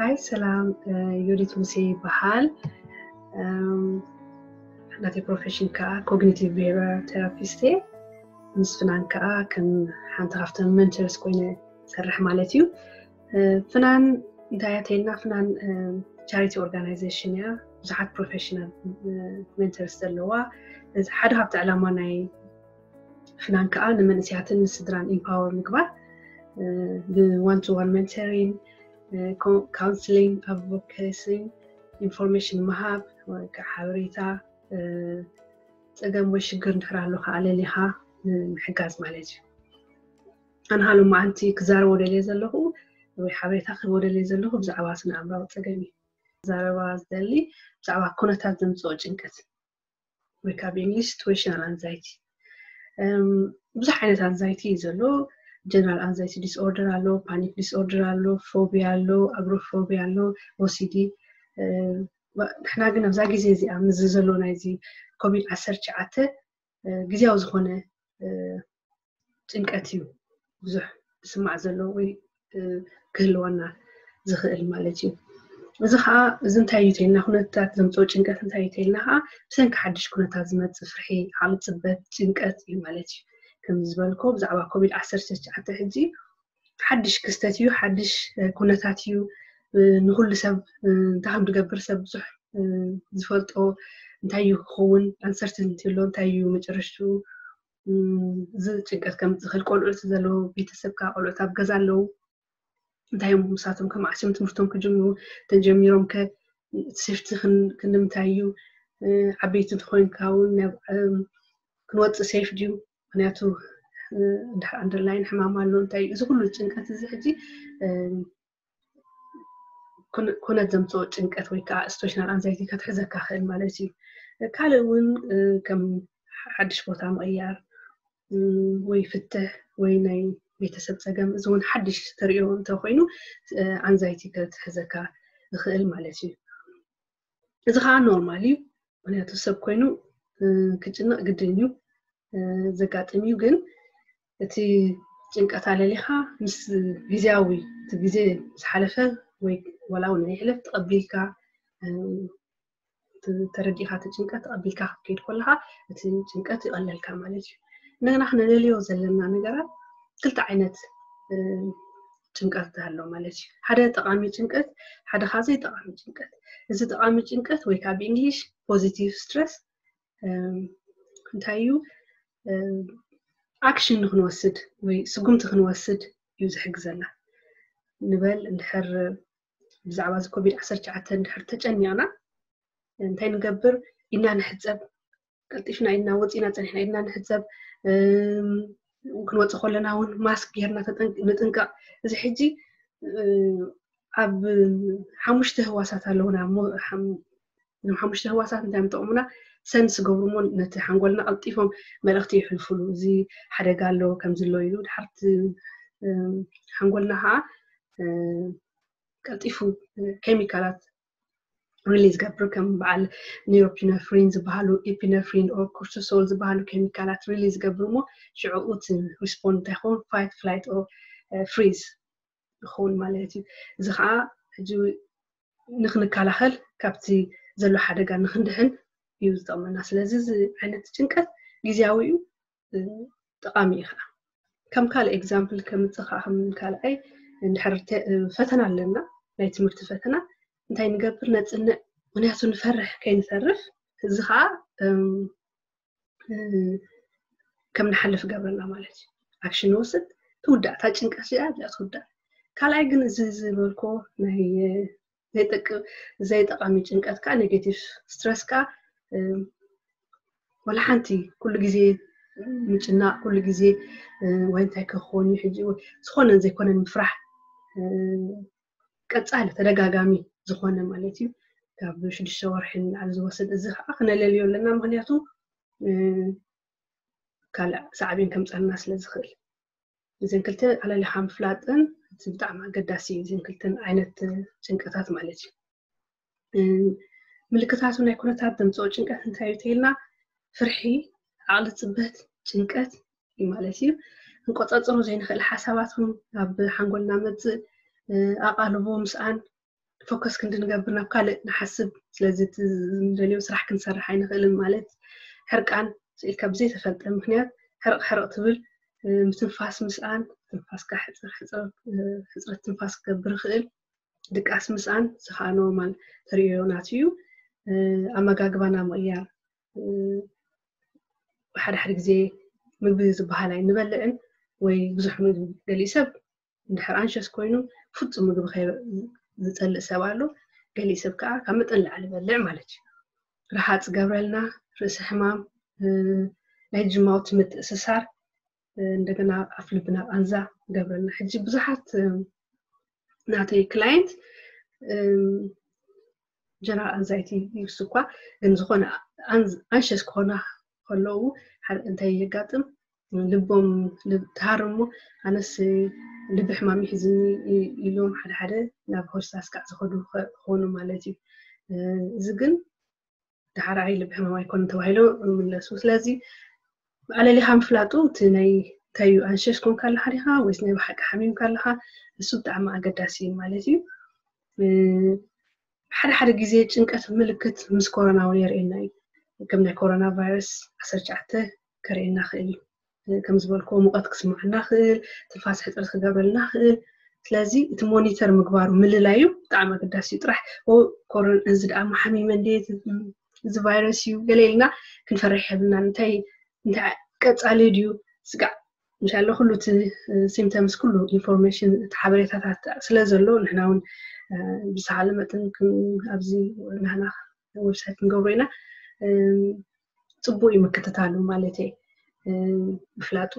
ሃይ ሰላም፣ ዮዲት ሙሴ ይበሃል። ናተይ ፕሮፌሽን ከዓ ኮግኒቲቭ ቢሄቪራል ቴራፒስት እየ። ምስ ፍናን ከዓ ከም ሓንቲ ካብተን መንተርስ ኮይነ ሰርሕ ማለት እዩ። ፍናን እንታይ እያ ተይልና? ፍናን ቻሪቲ ኦርጋናይዜሽን እያ። ብዙሓት ፕሮፌሽናል መንተርስ ዘለዋ። ሓደ ካብቲ ዕላማ ናይ ፍናን ከዓ ንመንእሰያትን ንስድራን ኢምፓወር ምግባር፣ ብዋን ቱ ዋን መንተሪን፣ ካውንስሊንግ፣ ኣድቮኬሲ፣ ኢንፎርሜሽን ምሃብ፣ ሓበሬታ፣ ፀገም ወይ ሽግር እንድሕር ኣሎ ከዓ ለሊኻ ምሕጋዝ ማለት እዩ። ኣነ ሃሎ መዓንቲ ክዛረቦ ደልየ ዘለኹ ወይ ሓበሬታ ክህቦ ደልየ ዘለኹ ብዛዕባ ስነ ኣእምራዊ ፀገም እዩ። ክዛረባ ዝደሊ ብዛዕባ ኩነታት ዘምፅኦ ጭንቀት ወይ ካብ እንግሊሽ ሲትዌሽናል ኣንዛይቲ። ብዙሕ ዓይነት ኣንዛይቲ እዩ ዘሎ። ጀነራል ኣንዛይቲ ዲስኦርደር ኣሎ፣ ፓኒክ ዲስኦርደር ኣሎ፣ ፎቢያ ኣሎ፣ ኣግሮፎቢያ ኣሎ፣ ኦሲዲ። ንሕና ግን ኣብዛ ግዜ እዚኣ ምስዚ ዘሎ ናይዚ ኮቪድ ዓሰርተ ትሽዓተ ግዜያዊ ዝኾነ ጭንቀት እዩ ብዙሕ ዝስማዕ ዘሎ ወይ ክህልወና ዝኽእል ማለት እዩ። እዚ ከዓ እዚ እንታይ እዩ ተይልና፣ ኩነታት ዘምፅኦ ጭንቀት እንታይ እዩ ተይልና ከዓ ብሰንኪ ሓድሽ ኩነታት ዝመፅእ ፍርሒ፣ ዓቕሊ ፅበት፣ ጭንቀት እዩ ማለት እዩ። ከም ዝበልኮ ብዛዕባ ኮቪድ ዓሰርተ ትሽዓተ ሕጂ ሓድሽ ክስተት እዩ፣ ሓድሽ ኩነታት እዩ። ንኩሉ ሰብ እንታይ ከም ዝገብር ሰብ ብዙሕ ዝፈልጦ እንታይ እዩ ክኸውን፣ ኣንሰርቲንቲ ኣሎ፣ እንታይ እዩ መጨረሽትኡ፣ እዚ ጭንቀት ከምፅእ ዝኽእል። ቆልዑት ዘለዉ ቤተሰብካ፣ ቆልዑት ኣብ ገዛ ኣለዉ፣ እንታይ እዮም ምሳቶም ከማዕስዮም ትምህርቶም ክጅምሩ፣ ተጀሚሮም ከ ሴፍቲ ክንምንታይ እዩ፣ ዓበይቲ እንተኮይንካ እውን ክንወፅእ ሴፍ ድዩ? ምክንያቱ እንድሕር ኣንደርላይን ሕማም ኣሎ እንታይ እዩ? እዚ ኩሉ ጭንቀት እዚ ሕጂ ኩነት ዘምፅኦ ጭንቀት ወይ ከዓ ስቶሽናል ኣንዛይቲ ከትሕዘካ ክእል ማለት እዩ። ካልእ እውን ከም ሓድሽ ቦታ ምቕያር ወይ ፍትሕ ወይ ናይ ቤተሰብ ፀገም፣ እዚ እውን ሓድሽ ተሪኦ እንተኮይኑ ኣንዛይቲ ከትሕዘካ ይኽእል ማለት እዩ። እዚ ከዓ ኖርማል እዩ፣ ምክንያቱ ሰብ ኮይኑ ክጭነቕ ግድን እዩ፣ ዘጋጥም እዩ። ግን እቲ ጭንቀት ኣለሊኻ ምስ ግዜያዊ፣ እቲ ግዜ ምስ ሓለፈ ወይ ዋላ እውን ይሕለፍ ተቐቢልካ፣ ተረዲእካ እቲ ጭንቀት ተቐቢልካ ክትከይድ ከለካ እቲ ጭንቀት ይቐለልካ ማለት እዩ። እንደገና ክነለልዮ ዘለና ነገራት ክልተ ዓይነት ጭንቀት ኣሎ ማለት እዩ። ሓደ ጠቓሚ ጭንቀት፣ ሓደ ከዓ ዘይጠቓሚ ጭንቀት። እዚ ጠቓሚ ጭንቀት ወይ ከዓ ብእንግሊሽ ፖዚቲቭ ስትረስ እንታይ እዩ? ኣክሽን ንክንወስድ ወይ ስጉምቲ ክንወስድ እዩ ዝሕግዘና። ንበል እንድሕር ብዛዕባ እዚ ኮቪድ ዓሰርተ ትሽዓተ እንድሕር ተጨኒቕና እንታይ ንገብር? ኢድና ንሕፀብ፣ ቀልጢፍና ኢድና ወፂና ፀኒሕና ኢድና ንሕፀብ፣ ክንወፅእ ከለና እውን ማስክ ጌርና ንጥንቀቕ። እዚ ሕጂ ኣብ ሓሙሽተ ህዋሳት ኣለውና እሞ እዞም ሓሙሽተ ህዋሳት እንታይ ምጠቕሙና? ሰንስ ገብሩ እሞ ነቲ ሓንጎልና ቀልጢፎም መልእኽቲ ይሕልፉሉ፣ እዚ ሓደጋ ኣሎ ከምዚ ኣሎ ኢሉ። ድሓርቲ ሓንጎልና ከዓ ቀልጢፉ ኬሚካላት ሪሊዝ ገብር፣ ከም በዓል ኒሮፒነፍሪን ዝበሃሉ፣ ኢፒነፍሪን ኦር ኮርቲሶል ዝበሃሉ ኬሚካላት ሪሊዝ ገብር እሞ ሽዕኡ እቲ ሪስፖንድ እንታይ ይኸውን? ፋይት ፍላይት ኦር ፍሪዝ ይኸውን ማለት እዩ። እዚ ከዓ ሕጂ ንክንከላኸል ካብቲ ዘሎ ሓደጋ ንክንድሕን እዩ ዝጠቕመና። ስለዚ እዚ ዓይነት ጭንቀት ግዜያዊ እዩ፣ ጠቓሚ እዩ ከዓ። ከም ካልእ ኤግዛምፕል ከምፅእ ከዓ ከም ካልኣይ እንድሕር ፈተና ኣለና፣ ናይ ትምህርቲ ፈተና እንታይ ንገብር? ነፅንዕ፣ ምክንያቱ ንፈርሕ ከይንተርፍ። እዚ ከዓ ከም ንሓልፍ ገብረና ማለት እዩ። ኣክሽን ንወስድ፣ ትውዳእ፣ እታ ጭንቀት እዚኣ እዚኣ ትውዳእ። ካልኣይ ግን እዚ ዝበልኮ ናይ ዘይጠቅ-፣ ዘይጠቃሚ ጭንቀት ከዓ፣ ኔጌቲቭ ስትረስ ከዓ ወላ ሓንቲ ኩሉ ግዜ ምጭናቅ፣ ኩሉ ግዜ ወይ እንታይ ክኾን እዩ ሕጂ፣ ዝኾነን ዘይኮነን ምፍራሕ፣ ቀጻሊ ተደጋጋሚ ዝኾነ ማለት እዩ። ካብ ሽዱሽተ ወርሒ ንላዕሊ ዝወስድ፣ እዚ ከዓ ክነለልዮ ኣለና፣ ምክንያቱ ካልእ ሳዕቤን ከምፀልና ስለ ዝኽእል። እዘን ክልተ ኣለሊኻ ምፍላጥን እቲ ብጣዕሚ ኣገዳሲ እዩ፣ እዘን ክልተን ዓይነት ጭንቀታት ማለት እዩ። ምልክታቱ ናይ ኩነታት ዘምፅኦ ጭንቀት እንታይ እዩ ተይልና፣ ፍርሒ፣ ዓቕሊ ፅበት፣ ጭንቀት እዩ ማለት እዩ። ክንቆፃፀሮ ዘይንኽእል ሓሳባት እውን ኣብ ሓንጎልና መፅእ፣ ኣቓልቦ ምስኣን፣ ፎከስ ክንዲ ንገብር ናብ ካልእ ንሓስብ። ስለዚ እቲ ንደልዮ ስራሕ ክንሰርሕ ኣይንኽእልን። ማለት ሕርቃን ስኢልካ ብዘይተፈልጠ ምክንያት ሕርቕ ሕርቕ ትብል፣ ምትንፋስ ምስኣን፣ ትንፋስካ ሕፅር ሕፅረት ትንፋስ ክገብር ይኽእል። ድቃስ ምስኣን፣ እዚ ከዓ ኖርማል ተርእዮ ናት እዩ። ኣመጋግባና ምቕያር፣ ሓደ ሓደ ግዜ ምግቢ ዝበሃል ኣይንበልዕን ወይ ብዙሕ ምግቢ። ገሊእ ሰብ እንድሕር ኣንሸስ ኮይኑ ፍጹም ምግቢ ዝጸልእ ሰብ ኣሎ። ገሊእ ሰብ ከዓ ካብ መጠን ላዕሊ በልዕ ማለት እዩ። ረሃፅ ገብረልና፣ ርእሲ ሕማም፣ ናይ ጅማውቲ ምትእስሳር፣ እንደገና ኣፍ ልብና ቃንዛ ገብረልና። ሕጂ ብዙሓት ናተይ ክላይንት ጀነራል ኣንዛይቲ ይብስ እኳ፣ ግን ዝኾነ ኣንሸስ ክኾና ከለዉ እንታይ የጋጥም? ልቦም ትሃርሞ፣ ኣነስ ልቢ ሕማም ይሕዝኒ ኢሎም ሓደ ሓደ ናብ ሆስፒታል ስካዕ ዝኸዱ ክኾኑ ማለት እዩ። እዚ ግን ዳሕራይ ልቢ ሕማም ኣይኮነ ተባሂሎ ይምለሱ። ስለዚ ኣለሊኻ ምፍላጡ እቲ ናይ እንታይ እዩ፣ ኣንሸሽ ኮንካ ኣለኻ ዲኻ ወይስ ናይ ብሓቂ ሓሚምካ ኣለኻ? እሱ ብጣዕሚ ኣገዳሲ እዩ ማለት እዩ። ሓደ ሓደ ግዜ ጭንቀት ምልክት ምስ ኮሮና እውን የርእየና እዩ። ከም ናይ ኮሮና ቫይረስ ዓሰርተ ትሽዓተ ከርእየና ክእል እዩ። ከም ዝበልክዎ ሙቐት ክስምዓና ክእል፣ ትንፋስ ሕፅረት ክገብረልና ክእል። ስለዚ እቲ ሞኒተር ምግባሩ ምልላዩ ብጣዕሚ ኣገዳሲ እዩ። ጥራሕ እዚ ደኣ ሓሚመ እንደ እዚ ቫይረስ እዩ ገለ ኢልና ክንፈርሕ የብልናን። እንታይ እንታይ ቀፃሊ ድዩ ስጋዕ እንሻላ ኩሉ እቲ ሲምተምስ ኩሉ ኢንፎርሜሽን እቲ ሓበሬታታት ስለ ዘሎ ንሕና እውን ብዝተኻለ መጠን ኣብዚ ናህና ዌብሳይት ክንገብሮ ኢና። ፅቡቅ እዩ ምክትታሉ ማለት ምፍላጡ።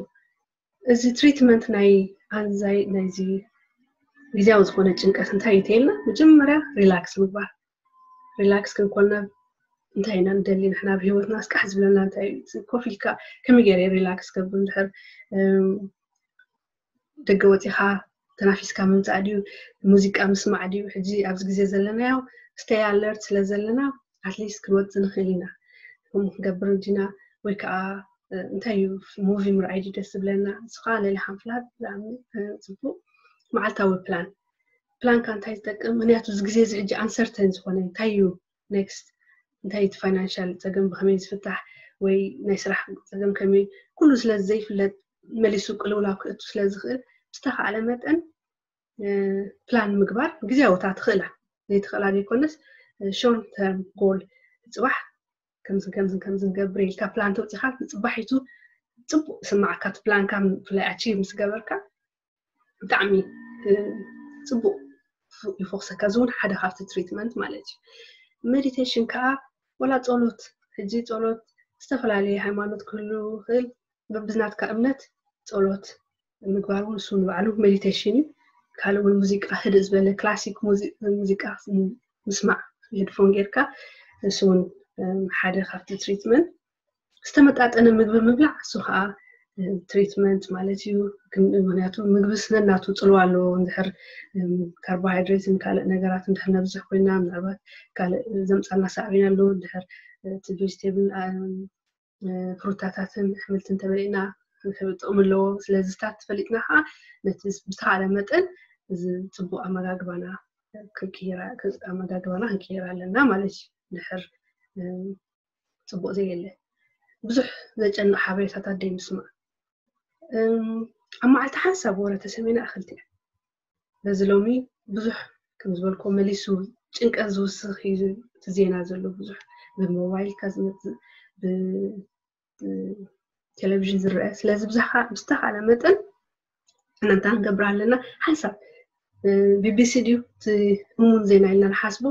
እዚ ትሪትመንት ናይ ኣንዛይ ናይዚ ግዜያዊ ዝኾነ ጭንቀት እንታይ እዩ ተይልና መጀመርያ ሪላክስ ምግባር። ሪላክስ ክንኮና እንታይ ኢና ንደሊ ንሕና ኣብ ህይወትና ስቃሕ ዝብለና እንታይ እዩ? ኮፍ ኢልካ ከመይ ገይረ ሪላክስ ገብር እንድሕር ደገ ወፂኻ ተናፊስካ ምምፃእ ድዩ? ሙዚቃ ምስማዕ ድዩ? ሕጂ ኣብዚ ግዜ ዘለናዮ ስተይ ኣለርት ስለ ዘለና ኣትሊስት ክንወፅእ ንኽእል ኢና። ከምኡ ክንገብር እንዲና ወይ ከዓ እንታይ እዩ ሙቪ ምርኣይ ድዩ ደስ ዝብለና? ንሱ ከዓ ለሊኻ ምፍላጥ ብጣዕሚ ፅቡቅ። መዓልታዊ ፕላን ፕላንካ እንታይ ዝጠቅም? ምክንያቱ እዚ ግዜ እዚ ሕጂ ኣንሰርተን ዝኾነ እንታይ እዩ ኔክስት እንታይ እቲ ፋይናንሻል ፀገም ብከመይ ዝፍታሕ ወይ ናይ ስራሕ ፀገም ከመይ ኩሉ ስለ ዘይፍለጥ መሊሱ ቅልውላው ክእቱ ስለ ዝኽእል ብዝተኻእለ መጠን ፕላን ምግባር ግዜያውታ ትኽእላ ዘይትኽእላ ዘይኮነስ ሾርት ተርም ጎል ፅባሕ ከምዝን ከምዝን ከምዝን ገብር ኢልካ ፕላን ተውፂኻ ንፅባሒቱ ፅቡቅ ስማዓካ እቲ ፕላንካ ብፍላይ ኣቺቭ ምስ ገበርካ ብጣዕሚ ፅቡቅ ይፎክሰካ። እዚ እውን ሓደ ካብቲ ትሪትመንት ማለት እዩ። ሜዲቴሽን ከዓ ወላ ጸሎት፣ ሕጂ ጸሎት ዝተፈላለየ ሃይማኖት ክህሉ ይኽእል፣ በብዝናትካ እምነት ጸሎት ምግባር እውን እሱ ንባዕሉ ሜዲቴሽን እዩ። ካልእ እውን ሙዚቃ ህድእ ዝበለ ክላሲክ ሙዚቃ ምስማዕ ሄድፎን ጌርካ እሱ እውን ሓደ ካብቲ ትሪትመንት ዝተመጣጠነ ምግቢ ምብላዕ እሱ ከዓ ትሪትመንት ማለት እዩ። ምክንያቱ ምግብስ ነናቱ ፅልዋ ኣለዎ። እንድሕር ካርቦሃይድሬትን ካልእ ነገራት እንድሕር ነብዝሕ ኮይና ምናልባት ካልእ ዘምፃልና ሳዕቤን ኣለዎ። እንድሕር እቲ ቬጅቴብል ፍሩታታትን ኣሕምልትን ተበሊዕና ጥቕሚ ኣለዎ። ስለዚ ስታት ተፈሊጥና ከዓ ነቲ ብዝተኻለ መጠን እዚ ፅቡቅ ኣመጋግባና ኣመጋግባና ክንቀይር ኣለና ማለት እዩ። ድሕር ፅቡቅ ዘየለ ብዙሕ ዘጨንቕ ሓበሬታታት ደይ ምስማዕ ኣብ መዓልቲ ሓንሳብ ወረ ተሰሚና እኽልቲ እያ። በዚ ሎሚ ብዙሕ ከም ዝበልኮ መሊሱ ጭንቀት ዝውስኽ እዩ እቲ ዜና ዘሎ ብዙሕ ብሞባይልካ ዝመፅእ ቴሌቪዥን ዝረአ። ስለዚ ብዝተኻለ መጠን እናንታ ክንገብር ኣለና። ሓንሳብ ቢቢሲ ድዩ እቲ እሙን ዜና ኢልና ንሓስቦ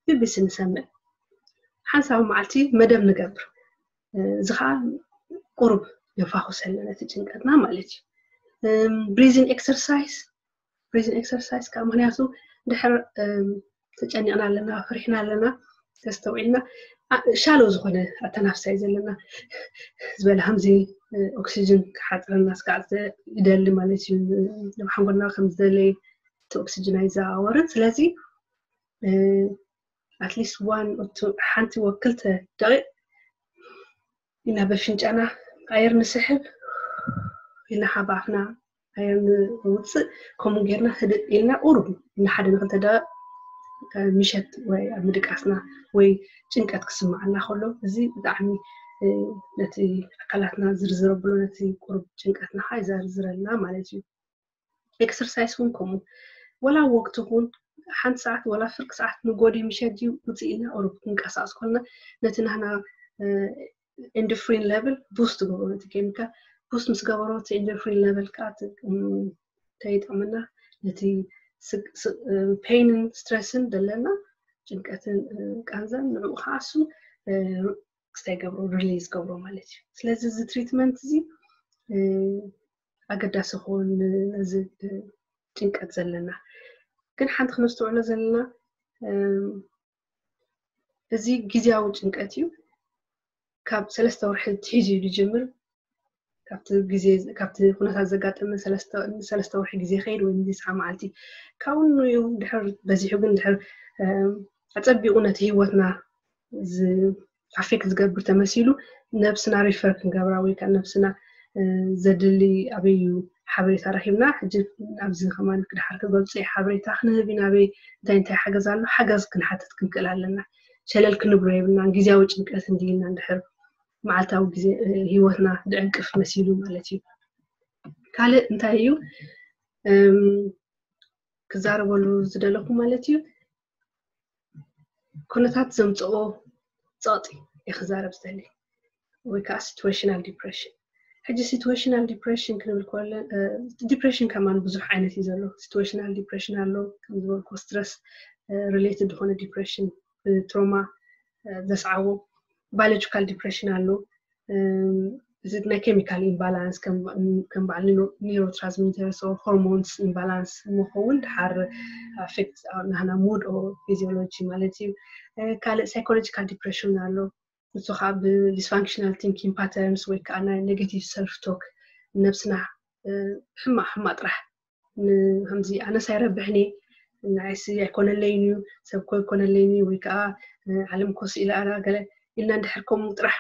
ቢቢሲ ንሰምዕ። ሓንሳብ መዓልቲ መደብ ንገብር። እዚ ከዓ ቁሩብ የፋኹሰልና ነቲ ጭንቀትና ማለት እዩ። ብሪዚን ኤክሰርሳይዝ ብሪዚን ኤክሰርሳይዝ ከዓ ምክንያቱ ድሕር ተጨኒቕና ኣለና፣ ፈሪሕና ኣለና፣ ተስተውዒልና ሻሎ ዝኾነ ኣተናፍሳ እዩ ዘለና ዝበለ ከምዚ ኦክሲጅን ክሓፅረና ስጋዕ ይደሊ ማለት እዩ። ናብ ሓንጎልና ከም ዝደለየ እቲ ኦክሲጅን ኣይዘዋወርን። ስለዚ ኣትሊስት ዋን ሓንቲ ወክልተ ደቂቕ ኢና በፍንጫና ኣየር ንስሕብ ኢልና ሓባፍና ኣየር ንውፅእ። ከምኡ ጌርና ህድእ ኢልና ቁሩብ ንሓደ ንክልተ ደቂቕ ምሸት ወይ ኣብ ምድቃስና ወይ ጭንቀት ክስምዓና ከሎ፣ እዚ ብጣዕሚ ነቲ ኣካላትና ዝርዝር ኣብሎ፣ ነቲ ቁሩብ ጭንቀትና ከዓ ይዘርዝረልና ማለት እዩ። ኤክሰርሳይስ እውን ከምኡ፣ ወላ ወቅቲ እውን ሓንቲ ሰዓት ወላ ፍርቂ ሰዓት ንጎዲ ምሸት ድዩ ውፅእ ኢልና ቁሩብ ክንቀሳቀስ ከለና፣ ነቲ ናህና endorphin level boost ትገብሮ፣ ነቲ ኬሚካል boost ምስ ገበሮ፣ እቲ endorphin level ከዓ እንታይ ይጠቕመና? ነቲ ፔይንን ስትረስን ዘለና፣ ጭንቀትን ቃንዛን፣ ንዕኡ ከዓ እሱ ክስታይ ገብሮ፣ ሪሊዝ ገብሮ ማለት እዩ። ስለዚ እዚ ትሪትመንት እዚ ኣገዳሲ ክኸውን፣ ነዚ ጭንቀት ዘለና። ግን ሓንቲ ክነስተውዕሎ ዘለና፣ እዚ ግዜያዊ ጭንቀት እዩ። ካብ ሰለስተ ወርሒ ትሒዙ እዩ ዝጅምር። ካብቲ ግዜ፣ ካብቲ ኩነታት ዘጋጠመ ሰለስተ ወርሒ ግዜ ከይድ ወይ ንስዓ መዓልቲ፣ ካብኡ እዩ ድሕር በዚሑ። ግን ድሕር ኣጸቢቑ ነቲ ህይወትና ኣፌክት ዝገብር ተመሲሉ፣ ነብስና ሪፈር ክንገብራ ወይ ከዓ ነብስና ዘድሊ ኣበይ እዩ ሓበሬታ ረኪብና፣ ሕጂ ኣብዚ ከማን ክድሓር ክገልፁ እየ፣ ሓበሬታ ክንህብ ኢና፣ ኣበይ እንታይ እንታይ ሓገዝ ኣሎ፣ ሓገዝ ክንሓትት ክንክእል ኣለና። ሸለል ክንብሎ የብልና። ግዜያዊ ጭንቀት እንዲልና እንድሕር መዓልታዊ ግዜ ህይወትና ዝዕንቅፍ መሲሉ ማለት እዩ። ካልእ እንታይ እዩ ክዛረበሉ ዝደለኹ ማለት እዩ፣ ኩነታት ዘምፅኦ ፀቕጢ እየ ክዛረብ ዝደሊ፣ ወይ ከዓ ሲትዌሽናል ዲፕሬሽን። ሕጂ ሲትዌሽናል ዲፕሬሽን ክንብል ከለ፣ ዲፕሬሽን ከማን ብዙሕ ዓይነት እዩ ዘሎ። ሲትዌሽናል ዲፕሬሽን ኣሎ፣ ከም ዝበልኩ ስትረስ ሪሌትድ ዝኾነ ዲፕሬሽን፣ ትሮማ ዘስዓቦ። ባዮሎጂካል ዲፕሬሽን ኣሎ፣ እዚ ናይ ኬሚካል ኢምባላንስ፣ ከም በዓል ኒውሮትራንስሚተርስ ኦር ሆርሞንስ ኢምባላንስ ምኸውን ድሓር ኣፌክት ናህና ሙድ ኦር ፊዚዮሎጂ ማለት እዩ። ካልእ ሳይኮሎጂካል ዲፕሬሽን ኣሎ። ንሱ ከዓ ብዲስፋንክሽናል ቲንኪንግ ፓተርንስ ወይ ከዓ ናይ ኔጌቲቭ ሰልፍ ቶክ፣ ነብስና ሕማቅ ሕማቅ ጥራሕ፣ ከምዚ ኣነስ ኣይረብሕን እየ፣ ንዓይሲ ኣይኮነለይን እዩ፣ ሰብ ኮ ኣይኮነለይን እዩ፣ ወይ ከዓ ዓለም ኮ ስኢላ ኣላ ገለ ኢልና እንድሕር ከምኡ ጥራሕ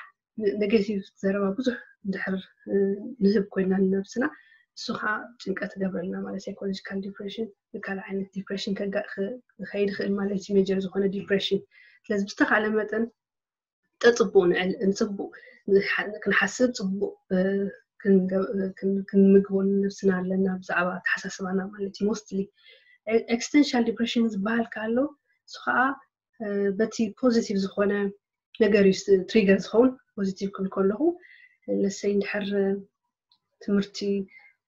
ኔጌቲቭ ዘረባ ብዙሕ እንድሕር ንህብ ኮይና ንነብስና፣ እሱ ከዓ ጭንቀት ይገብረልና ማለት። ሳይኮሎጂካል ዲፕሬሽን ብካልእ ዓይነት ዲፕሬሽን ክኸይድ ይኽእል ማለት እዩ፣ ሜጀር ዝኾነ ዲፕሬሽን። ስለዚ ብዝተኻለ መጠን ጠፅቡቅ ንዕል ንፅቡቅ ክንሓስብ፣ ፅቡቅ ክንምግቦ ንነብስና ኣለና ብዛዕባ ኣተሓሳስባና ማለት እዩ። ሞስትሊ ኤክስቴንሻል ዲፕሬሽን ዝበሃል ከሎ፣ እሱ ከዓ በቲ ፖዚቲቭ ዝኾነ ነገር እዩ ትሪገር ዝኸውን። ፖዚቲቭ ክብል ከለኹ፣ ለሰይ እንድሕር ትምህርቲ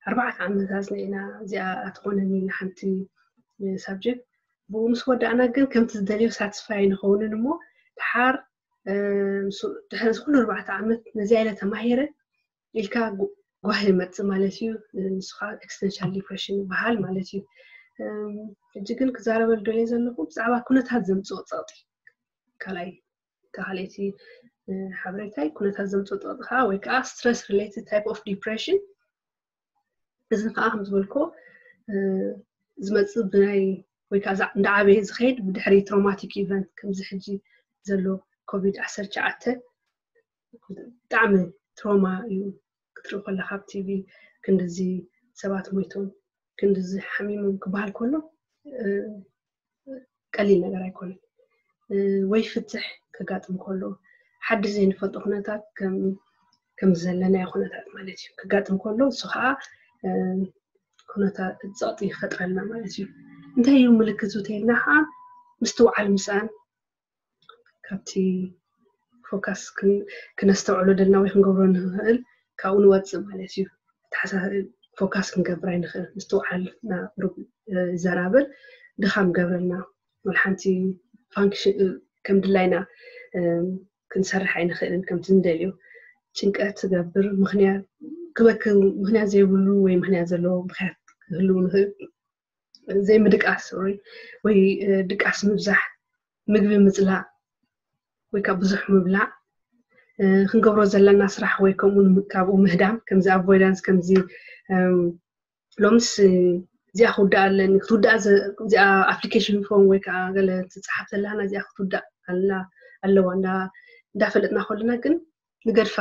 ኣርባዕተ ዓመት ኣፅኒዕና እዚኣ ኣትኾነኒ ሓንቲ ሳብጀክት፣ ብኡ ምስ ወዳእና ግን ከምቲ ዝደልዮ ሳትስፋይ ንኸውንን እሞ፣ ድሓር ድሕሪ እዚ ኩሉ ኣርባዕተ ዓመት ነዚኣ ኢለ ተማሂረ ኢልካ ጓሂ ይመፅእ ማለት እዩ። ንሱ ከዓ ኤክስቴንሻል ዲፕሬሽን ይበሃል ማለት እዩ። ሕጂ ግን ክዛረበሉ ደልየ ዘለኹ ብዛዕባ ኩነታት ዘምፅኦ ፀቕጢ፣ ካልኣይ፣ ካልኣይቲ ሓበሬታይ፣ ኩነታት ዘምፅኦ ፀቕጢ ከዓ ወይ ከዓ ስትረስ ሪሌትድ ታይፕ ኦፍ ዲፕሬሽን። እዚ ከዓ ከም ዝበልኮ ዝመፅእ ብናይ ወይ ከዓ እንዳ ዓበየ ዝኸይድ ብድሕሪ ትሮማቲክ ኢቨንት፣ ከምዚ ሕጂ ዘሎ ኮቪድ ዓሰርተ ትሽዓተ ብጣዕሚ ትሮማ እዩ። ክትርኢ ከለካ ኣብ ቲቪ ክንድዚ ሰባት ሞይቶም፣ ክንድዚ ሓሚሞም ክበሃል ከሎ ቀሊል ነገር ኣይኮነን። ወይ ፍትሕ ከጋጥም ከሎ፣ ሓድሽ ዘይንፈልጦ ኩነታት ከም ዘለናዮ ኩነታት ማለት እዩ ክጋጥም ከሎ፣ እሱ ከዓ ኩነታት ፀቕጢ ይፈጥረልና ማለት እዩ። እንታይ እዩ ምልክቱ ተይልና ከዓ ምስትውዓል ምስኣን፣ ካብቲ ፎካስ ክነስተውዕሎ ደልና ወይ ክንገብሮ ንኽእል ካብኡ ንወፅእ ማለት እዩ። ፎካስ ክንገብር ኣይንኽእል። ምስትውዓልና ቁሩብ ይዘራብል፣ ድኻም ገብረልና፣ ወላ ሓንቲ ፋንክሽን ከም ድላይና ክንሰርሕ ኣይንኽእልን ከምቲ ንደልዮ። ጭንቀት ትገብር፣ ምኽንያት ክበኪ፣ ምኽንያት ዘይብሉ ወይ ምኽንያት ዘለዎ ምኽንያት ክህልው ንኽእል። ዘይምድቃስ ወይ ድቃስ ምብዛሕ፣ ምግቢ ምፅላእ ወይ ካብ ብዙሕ ምብላዕ፣ ክንገብሮ ዘለና ስራሕ ወይ ከምኡ ካብኡ ምህዳም፣ ከምዚ ኣቮይዳንስ፣ ከምዚ ሎምስ እዚኣ ክውዳእ ኣለኒ፣ ክትውዳእ እዚኣ ኣፕሊኬሽን ፎርም ወይ ከዓ ገለ ትፅሓፍ ዘለሃና እዚኣ ክትውዳእ ኣለዋ እንዳፈለጥና ከለና ግን ንገድፋ።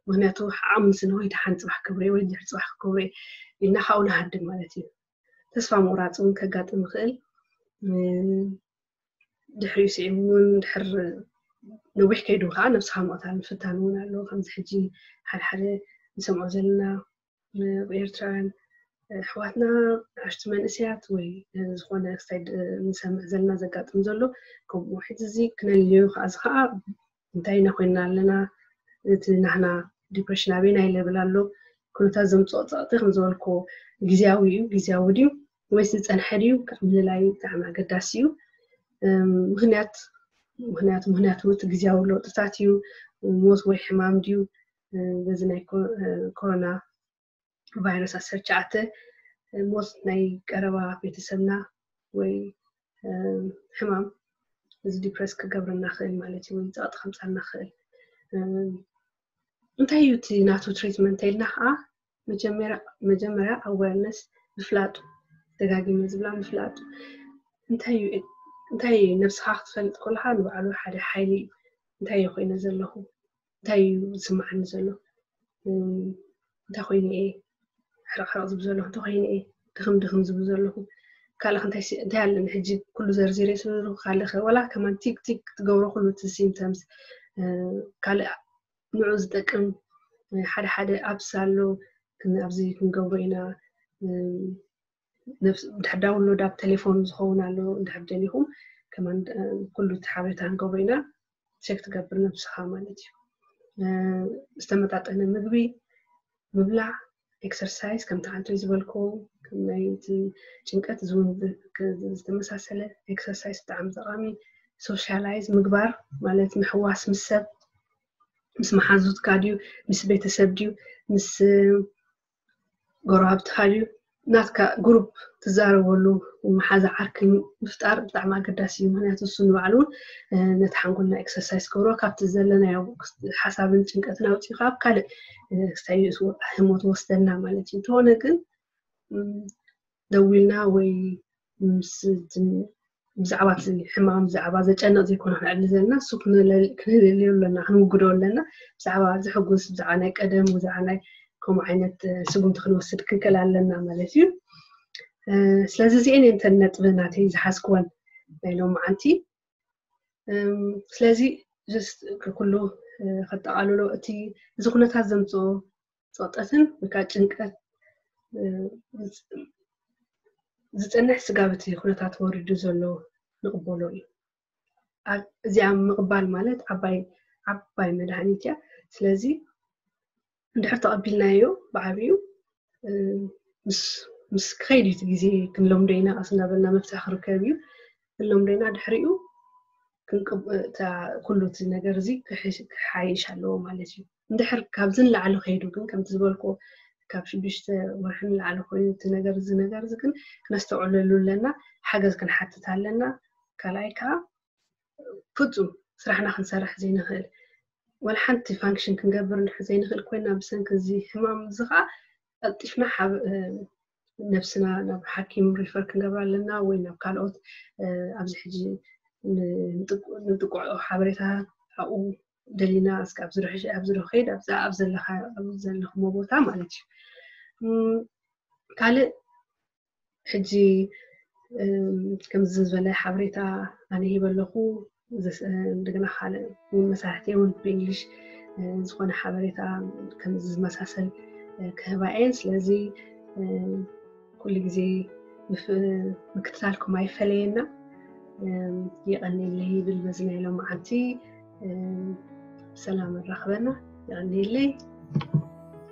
ምክንያቱ ዓቕሚ ስነ ወይ ደሓን ፅባሕ ክብሬ ወይ ድሕሪ ፅባሕ ክብሬ ኢልና ካብኡ ንሃድም ማለት እዩ። ተስፋ ምቑራፅ እውን ከጋጥም ይኽእል። ድሕሪኡ ስዒቡ እውን ድሕር ነዊሕ ከይዱ ከዓ ነብስኻ ምቕታል ምፍታን እውን ኣሎ። ከምዚ ሕጂ ሓደ ሓደ ንሰምዖ ዘለና ኤርትራውያን ኣሕዋትና ኣሽቱ መንእስያት ወይ ዝኾነ ክሳይ ንሰምዕ ዘለና ዘጋጥም ዘሎ ከምኡ ሕጂ እዚ ክነልዮ ከዓ እዚ ከዓ እንታይ ኢና ኮይንና ኣለና፣ እቲ ናህና ዲፕሬሽን ኣበይናይ ሌቭል ኣሎ፣ ኩነታት ዘምፅኦ ፀቕጢ ከም ዝበልኮ ግዝያዊ እዩ፣ ግዝያዊ ድዩ ወይስ ዝፀንሐ ድዩ ካብ ምልላይ ብጣዕሚ ኣገዳሲ እዩ። ምክንያት ምክንያቱ ምክንያቱ እቲ ግዝያዊ ለውጥታት እዩ፣ ሞት ወይ ሕማም ድዩ፣ በዚ ናይ ኮሮና ቫይረስ ዓሰርተ ትሽዓተ ሞት ናይ ቀረባ ቤተሰብና ወይ ሕማም እዚ ዲፕረስ ክገብረና ክእል ማለት እዩ ወይ ፀቕጢ ከምፃልና ክእል። እንታይ እዩ እቲ ናቱ ትሪትመንት ኢልና ከዓ መጀመርያ ኣዌርነስ ምፍላጡ፣ ደጋጊመ ዝብላ ምፍላጡ። እንታይ እዩ? ነብስኻ ክትፈልጥ ከለካ ንባዕሉ ሓደ ሓይሊ እዩ። እንታይ እየ ኮይነ ዘለኹ? እንታይ እዩ ዝስማዓኒ ዘሎ? እንታይ ኮይኑ እየ ሕርቕሕርቕ ዝብ ዘለኹ? እንታይ ኮይኑ እየ ድኽም ድኽም ዝብ ዘለኹ? ካልእ እንታይ ኣለኒ ሕጂ? ኩሉ ዘርዚረ ስሉ ካልእ ዋላ ከማን ቲክ ቲክ ትገብሮ ኩሉ እቲ ሲምተምስ ካልእ ንዑ ዝጠቅም ሓደ ሓደ ኣፕስ ኣሎ። ኣብዚ ክንገብሮ ኢና። ድሕር ዳውንሎድ ኣብ ቴሌፎን ዝኸውን ኣሎ። እንድሕር ደሊኹም ከማን ኩሉ እቲ ሓበሬታ ክንገብሮ ኢና። ቸክ ትገብር ነብስኻ ማለት እዩ። ዝተመጣጠነ ምግቢ ምብላዕ፣ ኤክሰርሳይዝ ከምቲ ሓንቲ ዝበልኮ ከም ናይ ጭንቀት ዝተመሳሰለ ኤክሰርሳይዝ ብጣዕሚ ጠቃሚ። ሶሻላይዝ ምግባር ማለት ምሕዋስ ምስ ሰብ ምስ መሓዙትካ ድዩ ምስ ቤተሰብ ድዩ ምስ ጎረባብትኻ ድዩ ናትካ ግሩፕ ትዛረበሉ መሓዛ ዓርኪ ምፍጣር ብጣዕሚ ኣገዳሲ እዩ። ምክንያቱ እሱ ንባዕሉ እውን ነቲ ሓንጎልና ኤክሰርሳይዝ ክገብሮ ካብቲ ዘለናዮ ሓሳብን ጭንቀትን ኣውፂኡ ካብ ካልእ ክሳይ ህሞት ወስደና ማለት እዩ። እንተኾነ ግን ደዊልና ወይ ምስ ብዛዕባ እቲ ሕማም ብዛዕባ ዘጨንቕ ዘይኮነ ክንዕሊ ዘለና እሱ ክንህልልዮ ኣለና ክንውግዶ ኣለና። ብዛዕባ ዘሕጉስ ብዛዕባ ናይ ቀደም ብዛዕባ ናይ ከምኡ ዓይነት ስጉምቲ ክንወስድ ክንክእል ኣለና ማለት እዩ። ስለዚ እዚአን እየን እተን ነጥቢ ናተይ ዝሓዝክወን ናይ ሎመዓንቲ። ስለዚ ኩሉ ከጠቓልሎ እቲ እዚ ኩነታት ዘምፅኦ ፀቕጠትን ወይ ከዓ ጭንቀት ዝፀንሕ ስጋብ እቲ ኩነታት ወሪዱ ዘሎ ንቕበሎ እዩ። እዚኣ ምቕባል ማለት ዓባይ ዓባይ መድሃኒት እያ። ስለዚ እንድሕር ተቐቢልናዮ ብዓብዩ ምስ ክኸይድ እዩ እቲ ግዜ ክንለምዶ ኢና ቀስ እንዳበልና መፍትሒ ክርከብ እዩ። ክንለምዶ ኢና ድሕሪኡ ኩሉ እቲ ነገር እዚ ክሓይሽ ኣለዎ ማለት እዩ። እንድሕር ካብዚ ንላዕሊ ከይዱ ግን ከምቲ ዝበልኩ ካብ ሽዱሽተ ወርሒ ንላዕሊ ኮይኑ እቲ ነገር እዚ ነገር እዚ ግን ክነስተውዕለሉ ኣለና። ሓገዝ ክንሓትት ኣለና። ካልኣይ ከዓ ፍፁም ስራሕና ክንሰርሕ ዘይንኽእል ዋላ ሓንቲ ፋንክሽን ክንገብር እንድሕር ዘይንኽእል ኮይና ብሰንኪ እዚ ሕማም እዚ ከዓ ቀልጢፍና ነብስና ናብ ሓኪም ሪፈር ክንገብር ኣለና ወይ ናብ ካልኦት ኣብዚ ሕጂ ንጥቁዖ ሓበሬታ ኣብኡ ደሊና እስከ ኣብዚ ርሕሽ ኣብዚ ዶ ከይድ ኣብዛ ኣብ ዘለኻ ኣብ ዘለኽሞ ቦታ ማለት እዩ። ካልእ ሕጂ ከምዚ ዝበለ ሓበሬታ ኣነ ሂበ ኣለኹ። እንደገና ካልእ እውን መሳርሕቲ እውን ብእንግሊሽ ዝኾነ ሓበሬታ ከምዚ ዝመሳሰል ክህባ እየን። ስለዚ ኩሉ ግዜ ምክትታልኩም ኣይፈለየና። የቐንየለይ ይብል በዚ ናይ ሎመዓንቲ። ብሰላም ኣራኽበና። የቐንየለይ።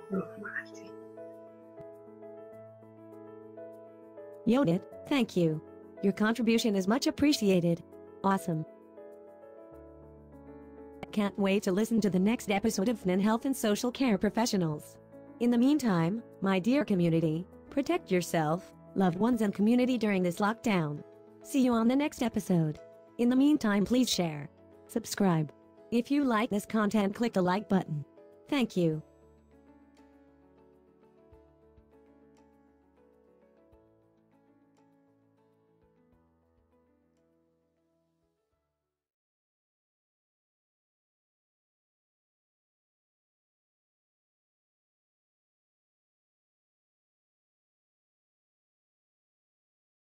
ብሩኽ መዓልቲ። Yodit, thank you. Your contribution is much appreciated. Awesome. Can't wait to listen to the next episode of Fnin Health and Social Care Professionals. In the meantime, my dear community, protect yourself, loved ones, and community during this lockdown. See you on the next episode. In the meantime, please share, subscribe. If you like this content, click the like button. Thank you.